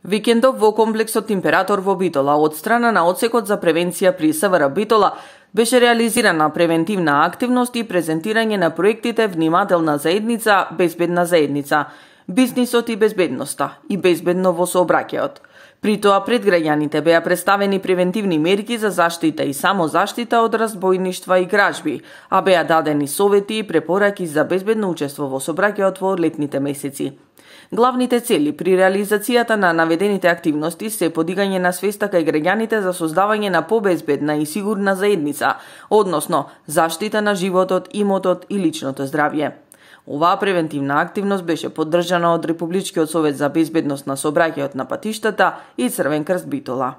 Викендов во комплексот Император во Битола од страна на Одсекот за превенција при СВР Битола беше реализирана превентивна активност и презентирање на проектите Внимателна заедница, Безбедна заедница, Бизнисот и безбедноста и безбедно во сообраќајот. При тоа пред граѓаните беа представени превентивни мерки за заштита и самозаштита од разбојништва и кражби, а беа дадени совети и препораки за безбедно учество во сообраќајот во летните месеци. Главните цели при реализацијата на наведените активности се подигање на свеста кај граѓаните за создавање на побезбедна и сигурна заедница, односно заштита на животот, имотот и личното здравје. Оваа превентивна активност беше поддржана од Републичкиот совет за безбедност на сообраќајот на патиштата и Црвен крст Битола.